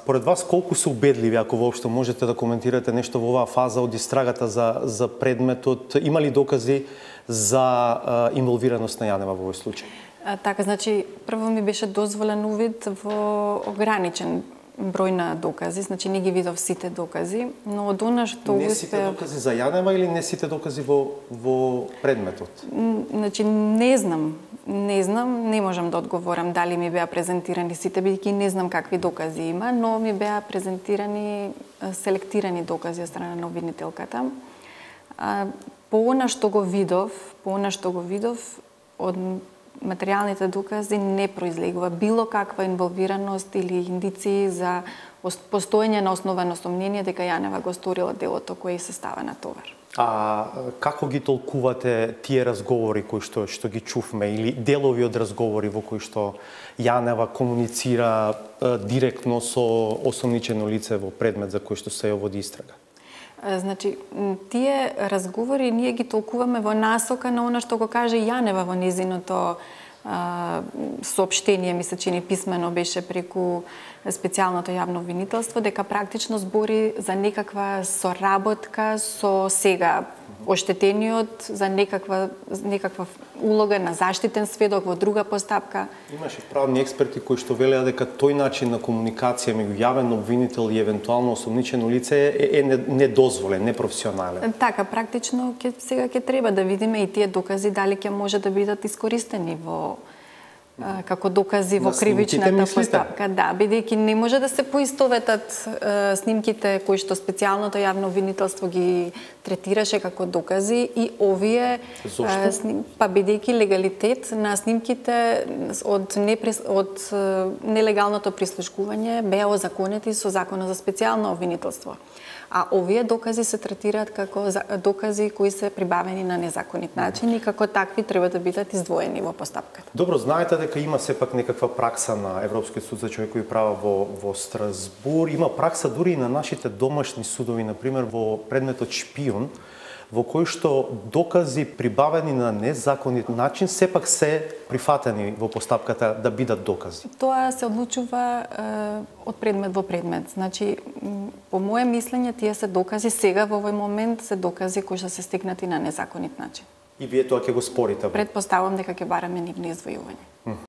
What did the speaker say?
Според вас, колку се убедливи, ако воопшто можете да коментирате нешто во оваа фаза од истрагата за предметот? Има ли докази за инволвираност на Јанева во овој случај? Така, значи, прво ми беше дозволен увид во ограничен број на докази, значи не ги видов сите докази, но од она што не сите докази за Јанева или не сите докази во предметот? Значи не знам, не можам да одговорам дали ми беа презентирани сите, бидејќи не знам какви докази има, но ми беа презентирани селектирани докази од страна на обвинителката. По она што го видов од материјалните докази не произлегува било каква инволвираност или индиции за постоење на основано сомнение дека Јанева го сторила делото кое се става на товар. А како ги толкувате тие разговори кои што ги чувме или делови од разговори во кои што Јанева комуницира директно со осомничено лице во предмет за кој што се ја води истрага? Значи, тие разговори ние ги толкуваме во насока на она што го каже Јанева во незиното соопштение, ми се чини писмено беше преку специјалното јавно обвинителство, дека практично збори за некаква соработка со сега оштетениот, за некаква улога на заштитен сведок во друга постапка. Имаше правни експерти кои што велеа дека тој начин на комуникација меѓу јавен обвинител и евентуално осомничено лице е недозволен, непрофесионален. Така, практично сега ќе треба да видиме и тие докази дали ќе може да бидат искористени во како докази во кривичната постапка. Да, бидејќи не може да се поистоветат снимките кои што специјалното јавно обвинителство ги третираше како докази и овие па бидејќи легалитет на снимките од нелегалното прислушкување беа озаконети со Законот за специјално обвинителство. А овие докази се третираат како докази кои се прибавени на незаконит начин и како такви треба да бидат издвоени во постапката. Добро, знаете дека има сепак некаква пракса на Европскиот суд за човекови права во Страсбур. Има пракса дури и на нашите домашни судови, например во предметот шпион, во кој што докази прибавени на незаконит начин сепак се прифатени во постапката да бидат докази. Тоа се одлучува од предмет во предмет. Значи, по моje мислење, тие се докази сега во овој момент се докази кои што се стигнати на незаконит начин. И вие тоа ќе го спорите? Предпоставам дека ќе бараме нивни извојување.